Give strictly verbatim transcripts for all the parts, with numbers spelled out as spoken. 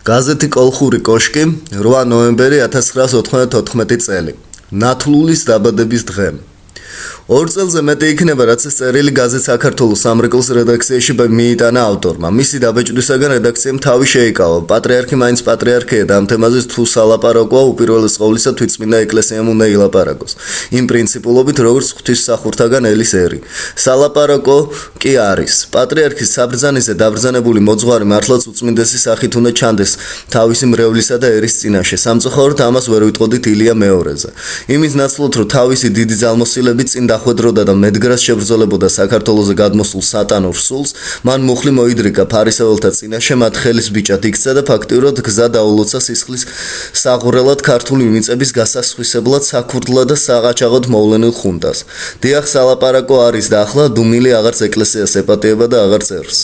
გაზეთი კოლხური კოშკი რვა ნოემბერი ათას ცხრაას ოთხმოცდათოთხმეტი წელი ნათლულის დაბადების დღე ორ წელზე მეტი იქნება რაც ეს წერილი გაზეთ საქართველოს სამრეკლოს რედაქციაში მიიტანა ავტორმა. მისი დაბეჭდვისაგან რედაქციამ თავი შეიკავა. პატრიარქი მაინც პატრიარქია და ამ თემაზე თუ სალაპარაკოა უპირველეს ყოვლისა თვითწმინდა ეკლესიამ უნდა ილაპარაკოს. იმ პრინციპულობით როგორც ღვთისმსახურთაგან ელის ერი. სალაპარაკო კი არის. პატრიარქის საბრძანისზე დაბრძანებული მოძღვარი მართლაც უწმინდესი სახით უნდა ჩანდეს თავისი მრევლისა და ერის წინაშე. სამწუხაროდ ამას ვერ ვიტყოდით ილია მეორეზე. იმის ნაცვლად რომ თავისი დიდი ძალმოსილებით წინ დახვედროდა და მედგრას შებრძოლებოდა საქართველოზე გადმოსულ სატანურ სულს, მან მუხლი მოიდრიკა ფარისეველთა წინაშე, მათ ხელის ბიჭად იქცა და ფაქტიურად გზა დაულოცა სისხლის საყურელად ქართული მიწების გასასხვისებლად საქურდლად და საყაჩაღოდ მოვლენილ ხუნტას. დიახ, სალაპარაკო არის და ახლა დუმილი აღარც ეკლესიას ეპატიება და აღარც ერს.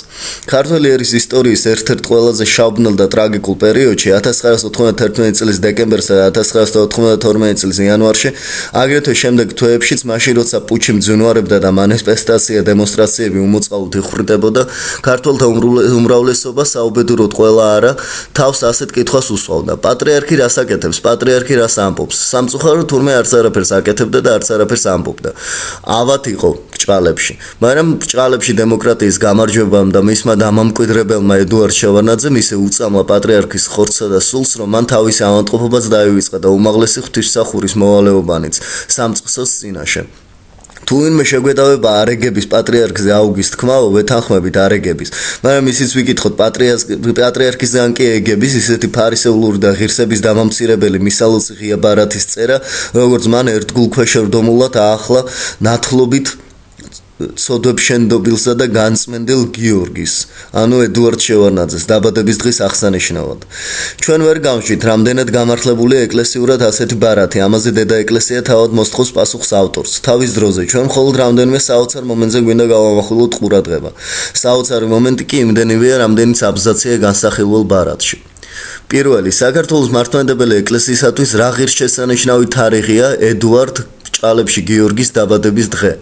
ქართული ერის ისტორიის ერთ-ერთ ყველაზე შავბნელ და ტრაგიკულ პერიოდში ათას ცხრაას ოთხმოცდათერთმეტი წლის დეკემბერსა და ათას ცხრაას ოთხმოცდათორმეტი წლის იანვარში, აგრეთვე შემდეგ თვეებშიც მაშინ როცა პუჩი მძვინვარებდა და მანიფესტაცია დემონსტრაციები უმოწყალოდ იხვრიტებოდა, ქართველთა უმრავლესობა საუბედუროდ ყველა არა თავს ასეთ კითხვას უსვავდა. პატრიარქი რას აკეთებს? პატრიარქი რას ამბობს? სამწუხაროდ თურმე არც არაფერს აკეთებდა და არც არაფერს ამბობდა. ავად იყო ბრჭყალებში. მაგრამ ბრჭყალებში დემოკრატიის გამარჯვებამ და მისმა დამამკვიდრებელმა ედუარდ შევარდნაძემ ისე უწამლა პატრიარქის ხორცსა და სულს, რომ მან თავისი ავადმყოფობაც დაივიწყა და უმაღლესი ღვთისმსახურის მოვალეობანიც სამწყსოს წინაშე. თუ ვინმე შეგვედავება არეგების პატრიარქზე აუგის თქმაო, ვეთანხმებით არეგების, მაგრამ ისიც ვიკითხოთ პატრიარქისგან კი ეგების, ისეთი ფარისეულური და ღირსების დამამცირებელი მისალოცი ღია ბარათის წერა, როგორც მან ერთგულ ქვეშევრდომულად აახლა ნათლობით ცოდვებშენდობილსა და განწმენდილ გიორგის, ანუ ედუარდ შევარდნაძეს დაბადების დღის აღსანიშნავად. ჩვენ ვერ გავშვით, რამდენად გამართლებულია ეკლესიურად ასეთი ბარათი, ამაზე დედა ეკლესია თავად მოსთხოვს პასუხს ავტორს. თავის დროზე ჩვენ მხოლოდ რამდენიმე საოცარ მომენტზე გვინდა გავამახვილოთ ყურადღება. საოცარი მომენტი კი იმდენივეა, რამდენიც აბზაცია განსახილველ ბარათში. პირველი, საქართველოს მართლმადიდებელი ეკლესიისათვის რა ღირსშესანიშნავი თარიღია ედუარდ ბრჭყალებში გიორგის დაბადების დღე.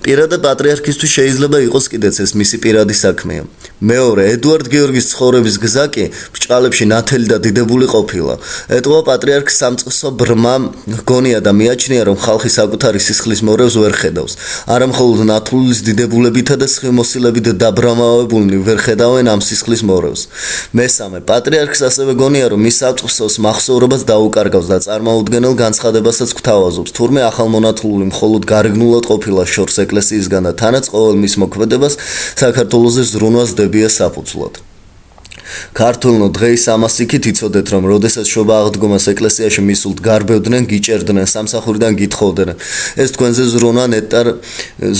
პირადა პატრიარქისთვის შეიძლება იყოს კიდეც ეს მისი პირადი საქმეა. მეორე, ედუარდ გიორგის ცხოვრების გზა კი ბრჭყალებში ნათელი და დიდებული ყოფილა. ეტყობა პატრიარქს სამწყსო ბრმა ჰგონია და მიაჩნია, რომ ხალხი საკუთარი სისხლის მორევს ვერ ხედავს. არა მხოლოდ ნათლულის დიდებულებითა და სხივმოსილებით დაბრამავებულნი ვერ ხედავენ ამ სისხლის მორევს. მესამე, პატრიარქს ასევე გონია, რომ მის სამწყსოს მახსოვრობას დაუკარგავს და წარმოუდგენელ განცხადებასაც გვთავაზობს. თურმე ახალ მონათლული მხოლოდ გარეგნულად ყოფილა შორს ეკლესიისგან და თანაც ყოველ მის მოქმედებას საქართველოზე ზრუნვას დებია საფუძვლად. ქართველნო დღეის ამას იქით იცოდეთ, რომ როდესაც შობა აღდგომას ეკლესიაში მისულთ გარბევდნენ, გიჭერდნენ, სამსახურიდან გითხოვდნენ. ეს თქვენზე ზრუნვა ნეტარ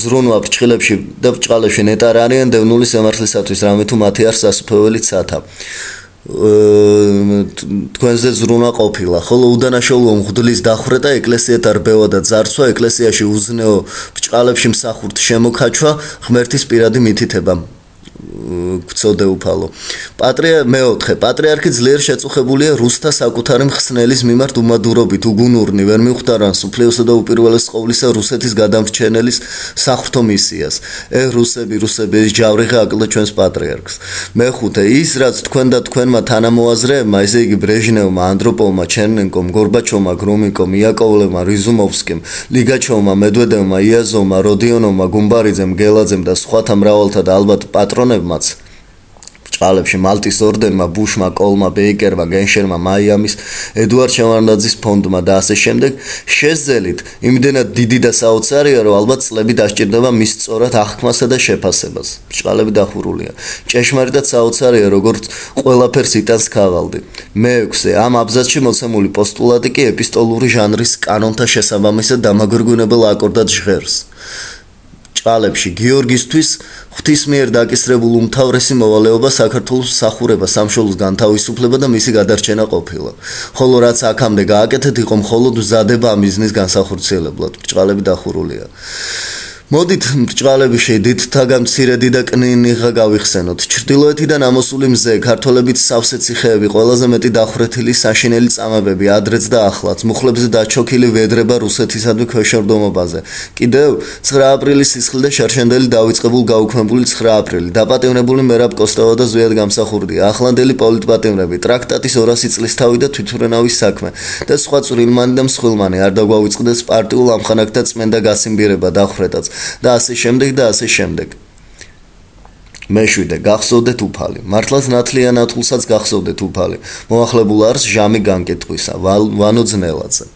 ზრუნვა ბრჭყილებში და ბრჭყალებში ნეტარ არიან დევნული სამართლისათვის, რამე თუ მათი არ სასუფეველი ცათა. თქვენზე ზრუნვა ყოფილა, ხოლო უდანაშაულო მღვდლის დახვრეტა, ეკლესიათა რბევა და ძარცვა, ეკლესიაში უზნეო ბრჭყალებში მსახურთ შემოქაჩვა, ღმერთის პირადი მითითება. გწოდე უფალო. პატრიარქი მეოთხე, პატრიარქი ძლიერ შეწუხებულია რუსთა საკუთარი მხსნელის მიმართ უმადურობით, უგუნურნი, ვერ მიხვდა სუფლეოსა და უპირველეს ყოვლისა რუსეთის გადამრჩენელის საღვთო მისიას. ე რუსები, რუსები, ეს ჯავრიღა აკლდა ჩვენს პატრიარქს. მეხუთე, ის რაც თქვენ და თქვენმა თანამოაზრეებმა, ესე იგი ბრეჟნევმა, ანდროპოვმა, ჩერნენკომ, გორბაჩოვმა, გრომიკომ, იაკოვლევმა, რიზუმოვსკიმ, ლიგაჩოვმა, მედვედევმა, იაზოვმა, როდიონოვმა, გუმბარიძემ, გელაძემ და სხვათა მრავალთა და ალბათ პატრონებმაც ბრჭყალებში მალტის ორდენმა, ბუშმა, კოლმა, ბეიკერმა, გენშერმა, მაიამის, ედუარდ შევარდნაძის ფონდმა და ასე შემდეგ შეძელით იმდენად დიდი და საოცარია, რომ ალბათ წლები დასჭირდება მის სწორად აღქმასა და შეფასებას. ბრჭყალები დახურულია. ჭეშმარიტად საოცარია, როგორც ყველაფერს იტანს ქაღალდი. მეექვსე, ამ აბზაცში მოცემული პოსტულატი კი ეპისტოლური ჟანრის კანონთა შესაბამისად დამაგვირგვინებელ აკორდად ჟღერს. ბრჭყალებში გიორგისთვის ღვთის მიერ დაკისრებულ უმთავრესი მოვალეობა საქართველოს მსახურება, სამშობლოს განთავისუფლება და მისი გადარჩენა ყოფილა. ხოლო რაც აქამდე გააკეთეთ, იყო მხოლოდ მზადება ამ მიზნის განსახორციელებლად. ბრჭყალები დახურულია. მოდით ბრჭყალები შედით თაგამცირედი და კნინიღა გავიხსენოთ. ჩრდილოეთიდან ამოსული მზე, ქართველებით სავსე ციხეები, ყველაზე მეტი დახვრეთილი საშინელი წამებები, ადრეც და ახლაც, მუხლებზე დაჩოქილი ვედრება რუსეთისადმი ქვეშევრდომობაზე. კიდევ ცხრა აპრილის სისხლი და შარშანდელი დავიწყებულ გაუქმებული ცხრა აპრილი. დაპატიმრებული მერაბ კოსტავა და ზვიად გამსახურდია. ახლანდელი პოლიტპატიმრები, ტრაქტატის ორასი წლის თავი და თვითმფრინავის საქმე და სხვა წვრილმანი და მსხვილმანი არ დაგვავიწყდეს პარტიულ ამხანაგთა წმენდა გასიმბირება დახვრეტაც. და ასე შემდეგ და ასე შემდეგ. მეშვიდე გახსოვდეთ უფალი. მართლაც ნათლია ნათლსაც გახსოვდეთ უფალი. მოახლებულ არს ჟამი განკეტყვისა. ვანო ძნელაძე.